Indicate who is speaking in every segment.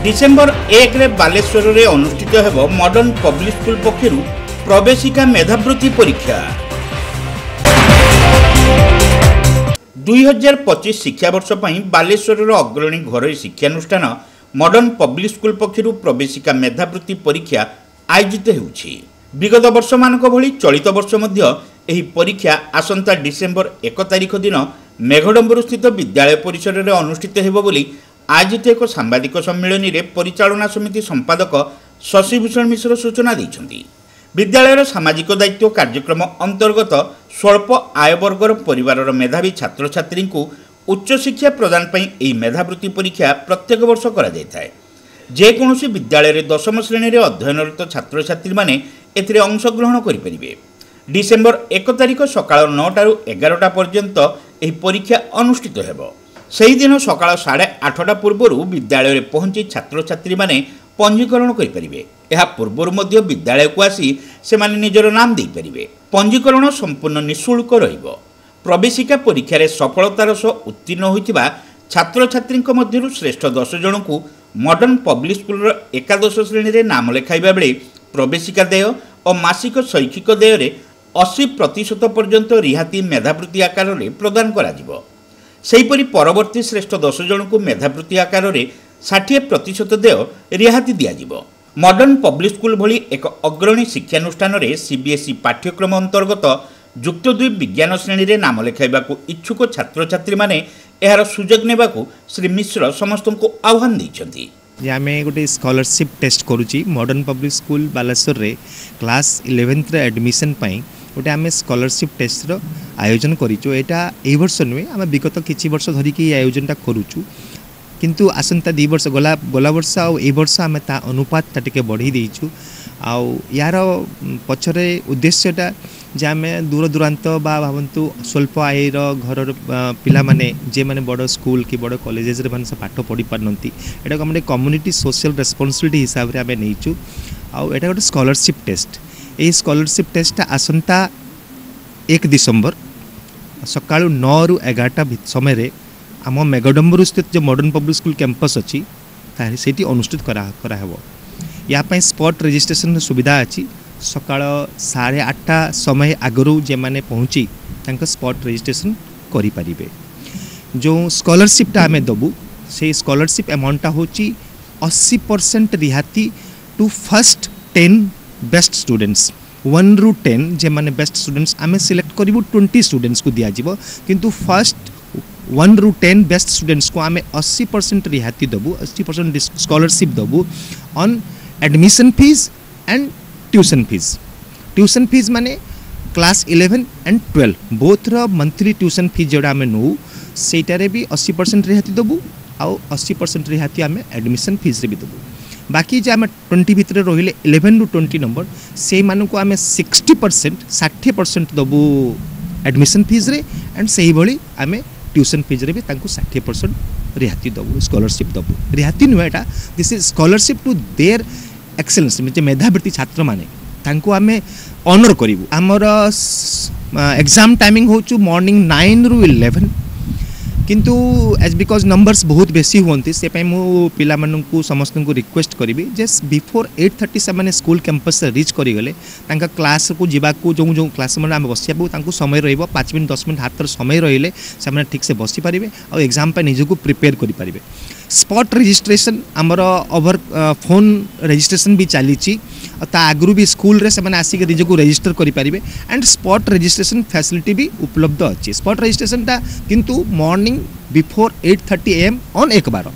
Speaker 1: December 1ରେ ବାଲେଶ୍ୱରରେ ଅନୁଷ୍ଠିତ ହେବ ମଡର୍ଣ୍ଣ ପବ୍ଲିକ ସ୍କୁଲ ପକ୍ଷରୁ ପ୍ରବେଶିକା ମେଧାବୃତ୍ତି ପରୀକ୍ଷା। 2025 ଶିକ୍ଷାବର୍ଷ ପାଇଁ ବାଲେଶ୍ୱରର ଅଗ୍ରଣୀ ଘରୋଇ ଶିକ୍ଷାନୁଷ୍ଠାନ ମଡର୍ଣ୍ଣ ପବ୍ଲିକ ସ୍କୁଲ ପକ୍ଷରୁ ପ୍ରବେଶିକା ମେଧାବୃତ୍ତି ପରୀକ୍ଷା ଆୟୋଜିତ ହେଉଛି। ବିଗତ ବର୍ଷମାନଙ୍କ ଭଳି ଚଳିତ ବର୍ଷ ମଧ୍ୟ ଏହି ପରୀକ୍ଷା ଆସନ୍ତା ଡିସେମ୍ବର 1 ତାରିଖ ଦିନ ମେଘଡମ୍ବରୁସ୍ଥିତ ବିଦ୍ୟାଳୟ ପରିସରରେ ଅନୁଷ୍ଠିତ ହେବ ବୋଲି ଆୟୋଜିତ ଏକ ସାମ୍ବାଦିକ ସମ୍ମିଳନୀରେ ପରିଚାଳନା ସମିତି ସମ୍ପାଦକ ଶଶିଭୂଷଣ ମିଶ୍ର ସୂଚନା ଦେଇଛନ୍ତି। ବିଦ୍ୟାଳୟର ସାମାଜିକ ଦାୟିତ୍ୱ କାର୍ଯ୍ୟକ୍ରମ ଅନ୍ତର୍ଗତ ସ୍ୱଳ୍ପ ଆୟବର୍ଗର ପରିବାରର ମେଧାବୀ ଛାତ୍ରଛାତ୍ରୀଙ୍କୁ ଉଚ୍ଚଶିକ୍ଷା ପ୍ରଦାନ ପାଇଁ ଏହି ମେଧାବୃତ୍ତି ପରୀକ୍ଷା ପ୍ରତ୍ୟେକ ବର୍ଷ କରାଯାଇଥାଏ। ଯେକୌଣସି ବିଦ୍ୟାଳୟରେ ଦଶମ ଶ୍ରେଣୀରେ ଅଧ୍ୟୟନରତ ଛାତ୍ରଛାତ୍ରୀମାନେ ଏଥିରେ ଅଂଶଗ୍ରହଣ କରିପାରିବେ। ଡିସେମ୍ବର 1 ତାରିଖ ସକାଳ 9ଟାରୁ 11ଟା ପର୍ଯ୍ୟନ୍ତ ଏହି ପରୀକ୍ଷା ଅନୁଷ୍ଠିତ ହେବ। ସେହିଦିନ ସକାଳ 8:30 ପୂର୍ବରୁ ବିଦ୍ୟାଳୟରେ ପହଞ୍ଚି ଛାତ୍ରଛାତ୍ରୀମାନେ ପଞ୍ଜୀକରଣ କରିପାରିବେ। ଏହା ପୂର୍ବରୁ ମଧ୍ୟ ବିଦ୍ୟାଳୟକୁ ଆସି ସେମାନେ ନିଜର ନାମ ଦେଇପାରିବେ। ପଞ୍ଜୀକରଣ ସମ୍ପୂର୍ଣ୍ଣ ନିଃଶୁଳ୍କ ରହିବ। ପ୍ରବେଶିକା ପରୀକ୍ଷାରେ ସଫଳତାର ସହ ଉତ୍ତୀର୍ଣ୍ଣ ହୋଇଥିବା ଛାତ୍ରଛାତ୍ରୀଙ୍କ ମଧ୍ୟରୁ ଶ୍ରେଷ୍ଠ 10 ଜଣଙ୍କୁ ମଡର୍ଣ୍ଣ ପବ୍ଲିକ ସ୍କୁଲର ଏକାଦଶ ଶ୍ରେଣୀରେ ନାମ ଲେଖାଇବା ବେଳେ ପ୍ରବେଶିକା ଦେୟ ଓ ମାସିକ ଶୈକ୍ଷିକ ଦେୟରେ 80% ପର୍ଯ୍ୟନ୍ତ ରିହାତି ମେଧାବୃତ୍ତି ଆକାରରେ ପ୍ରଦାନ କରାଯିବ। ସେହିପରି ପରବର୍ତ୍ତୀ ଶ୍ରେଷ୍ଠ 10 ଜଣଙ୍କୁ ମେଧାବୃତ୍ତି ଆକାରରେ 60% ଦେୟ ରିହାତି ଦିଆଯିବ। ମଡର୍ଣ୍ଣ ପବ୍ଲିକ ସ୍କୁଲ ଭଳି ଏକ ଅଗ୍ରଣୀ ଶିକ୍ଷାନୁଷ୍ଠାନରେ ସିବିଏସ୍ଇ ପାଠ୍ୟକ୍ରମ ଅନ୍ତର୍ଗତ ଯୁକ୍ତ 2 ବିଜ୍ଞାନ ଶ୍ରେଣୀରେ ନାମ ଲେଖାଇବାକୁ ଇଚ୍ଛୁକ ଛାତ୍ରଛାତ୍ରୀମାନେ ଏହାର ସୁଯୋଗ ନେବାକୁ ଶ୍ରୀ ମିଶ୍ର ସମସ୍ତଙ୍କୁ ଆହ୍ୱାନ ଦେଇଛନ୍ତି।
Speaker 2: ଯେ ଆମେ ଗୋଟେ ସ୍କଲାରସିପ୍ ଟେଷ୍ଟ କରୁଛି ମଡ଼ର୍ଣ୍ଣ ପବ୍ଲିକ୍ ସ୍କୁଲ ବାଲେଶ୍ୱରରେ। କ୍ଲାସ୍ 11ଥରେ ଆଡ଼ମିସନ୍ ପାଇଁ ଗୋଟେ ଆମେ ସ୍କଲାରସିପ୍ ଟେଷ୍ଟର ଆୟୋଜନ କରିଛୁ। ଏଇଟା ଏଇ ବର୍ଷ ନୁହେଁ, ଆମେ ବିଗତ କିଛି ବର୍ଷ ଧରିକି ଏଇ ଆୟୋଜନଟା କରୁଛୁ। କିନ୍ତୁ ଆସନ୍ତା 2 ବର୍ଷ ଗଲା, ଗଲା ବର୍ଷ ଆଉ ଏଇ ବର୍ଷ ଆମେ ତା ଅନୁପାତଟା ଟିକେ ବଢ଼େଇ ଦେଇଛୁ। ଆଉ ୟାର ପଛରେ ଉଦ୍ଦେଶ୍ୟଟା ଯେ ଆମେ ଦୂର ଦୂରାନ୍ତ ବା ଭାବନ୍ତୁ ସ୍ୱଳ୍ପ ଆୟର ଘରର ପିଲାମାନେ, ଯେଉଁମାନେ ବଡ଼ ସ୍କୁଲ କି ବଡ଼ କଲେଜେସରେ ମାନେ ସେ ପାଠ ପଢ଼ି ପାରୁନାହାନ୍ତି, ଏଟାକୁ ଆମେ କମ୍ୟୁନିଟି ସୋସିଆଲ ରେସ୍ପନ୍ସିବିଲିଟି ହିସାବରେ ଆମେ ନେଇଛୁ। ଆଉ ଏଇଟା ଗୋଟେ ସ୍କଲାରସିପ୍ ଟେଷ୍ଟ। ଏଇ ସ୍କଲାରସିପ୍ ଟେଷ୍ଟଟା ଆସନ୍ତା 1 ଡିସେମ୍ବର ସକାଳୁ 9ରୁ 11ଟା ସମୟରେ ଆମ ମେଘଡମ୍ବରୁ ସ୍ଥିତ ଯେଉଁ ମଡ଼ର୍ଣ୍ଣ ପବ୍ଲିକ୍ ସ୍କୁଲ କ୍ୟାମ୍ପସ୍ ଅଛି, ତାହେଲେ ସେଇଠି ଅନୁଷ୍ଠିତ କରାହେବ। ୟା ପାଇଁ ସ୍ପଟ୍ ରେଜିଷ୍ଟ୍ରେସନର ସୁବିଧା ଅଛି। ସକାଳ 8:30 ସମୟ ଆଗରୁ ଯେଉଁମାନେ ପହଞ୍ଚି ତାଙ୍କ ସ୍ପଟ୍ ରେଜିଷ୍ଟ୍ରେସନ୍ କରିପାରିବେ। ଯେଉଁ ସ୍କଲାରସିପ୍ଟା ଆମେ ଦେବୁ, ସେଇ ସ୍କଲାରସିପ୍ ଆମାଉଣ୍ଟଟା ହେଉଛି 80% ରିହାତି ଟୁ ଫାର୍ଷ୍ଟ 10 ବେଷ୍ଟ ଷ୍ଟୁଡେଣ୍ଟସ୍। 1ରୁ 10 ଯେଉଁମାନେ ବେଷ୍ଟ ଷ୍ଟୁଡେଣ୍ଟସ୍ ଆମେ ସିଲେକ୍ଟ କରିବୁ, 20 ଷ୍ଟୁଡେଣ୍ଟସ୍କୁ ଦିଆଯିବ। କିନ୍ତୁ ଫାର୍ଷ୍ଟ 1ରୁ 10 ବେଷ୍ଟ ଷ୍ଟୁଡେଣ୍ଟସ୍କୁ ଆମେ 80% ରିହାତି ଦେବୁ, 80% ସ୍କଲାରସିପ୍ ଦେବୁ on admission fees and tuition fees. Tuition fees ମାନେ class 11 and 12 both monthly tuition fees ଯେଉଁଟା ଆମେ ନେଉ, ସେଇଟାରେ ବି 80% ରିହାତି ଦେବୁ ଆଉ 80% ରିହାତି ଆମେ ଆଡ଼ମିସନ୍ ଫିଜ୍ରେ ବି ଦେବୁ। ବାକି ଯେ ଆମେ 20 ଭିତରେ ରହିଲେ, 11ରୁ 20 ନମ୍ବର, ସେଇମାନଙ୍କୁ ଆମେ 60%, 60% ଦେବୁ ଆଡ଼ମିସନ୍ ଫିଜ୍ରେ ଆଣ୍ଡ ସେଇଭଳି ଆମେ ଟ୍ୟୁସନ୍ ଫିଜ୍ରେ ବି ତାଙ୍କୁ 60% ରିହାତି ଦେବୁ, ସ୍କଲାରସିପ୍ ଦେବୁ। ରିହାତି ନୁହେଁ ଏଇଟା, this is scholarship to their excellence. ଯେ ମେଧାବୃତ୍ତି ଛାତ୍ରମାନେ, ତାଙ୍କୁ ଆମେ ଅନର୍ କରିବୁ। ଆମର ଏକ୍ଜାମ୍ ଟାଇମିଂ ହେଉଛି ମର୍ଣ୍ଣିଂ 9ରୁ 11। କିନ୍ତୁ ଏଜ୍ because numbers ବହୁତ ବେଶୀ ହୁଅନ୍ତି, ସେ ପାଇଁ ମୁଁ ପିଲାମାନଙ୍କୁ ସମସ୍ତଙ୍କୁ ରିକ୍ୱେଷ୍ଟ କରିବି ଯେ ବିଫୋର୍ 8:30 ସେମାନେ ସ୍କୁଲ କ୍ୟାମ୍ପସ୍ରେ ରିଚ୍ କରିଗଲେ ତାଙ୍କ କ୍ଲାସ୍କୁ ଯିବାକୁ, ଯେଉଁ ଯେଉଁ କ୍ଲାସ୍ ମାନେ ଆମେ ବସିବାକୁ ତାଙ୍କୁ ସମୟ ରହିବ, 5 ମିନିଟ୍ 10 ମିନିଟ୍ ହାତରେ ସମୟ ରହିଲେ ସେମାନେ ଠିକ୍ସେ ବସିପାରିବେ ଆଉ ଏକ୍ଜାମ୍ ପାଇଁ ନିଜକୁ ପ୍ରିପେୟାର କରିପାରିବେ। ସ୍ପଟ୍ ରେଜିଷ୍ଟ୍ରେସନ୍ ଆମର ଓଭର ଫୋନ୍ ରେଜିଷ୍ଟ୍ରେସନ୍ ବି ଚାଲିଛି ଆଉ ତା ଆଗରୁ ବି ସ୍କୁଲରେ ସେମାନେ ଆସିକି ନିଜକୁ ରେଜିଷ୍ଟର କରିପାରିବେ ଆଣ୍ଡ ସ୍ପଟ୍ ରେଜିଷ୍ଟ୍ରେସନ୍ ଫ୍ୟାସିଲିଟି ବି ଉପଲବ୍ଧ ଅଛି। ସ୍ପଟ୍ ରେଜିଷ୍ଟ୍ରେସନ୍ଟା କିନ୍ତୁ ମର୍ଣ୍ଣିଂ ବିଫୋର୍ 8:30 AM on 1/12,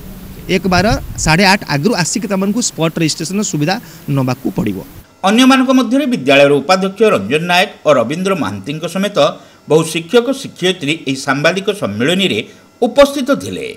Speaker 2: 1/12 8:30 ଆଗରୁ ଆସିକି ତମମାନଙ୍କୁ ସ୍ପଟ୍ ରେଜିଷ୍ଟ୍ରେସନ୍ର ସୁବିଧା ନେବାକୁ ପଡ଼ିବ।
Speaker 1: ଅନ୍ୟମାନଙ୍କ ମଧ୍ୟରେ ବିଦ୍ୟାଳୟର ଉପାଧ୍ୟକ୍ଷ ରଞ୍ଜନ ନାୟକ ଓ ରବୀନ୍ଦ୍ର ମହାନ୍ତିଙ୍କ ସମେତ ବହୁ ଶିକ୍ଷକ ଶିକ୍ଷୟିତ୍ରୀ ଏହି ସାମ୍ବାଦିକ ସମ୍ମିଳନୀରେ ଉପସ୍ଥିତ ଥିଲେ।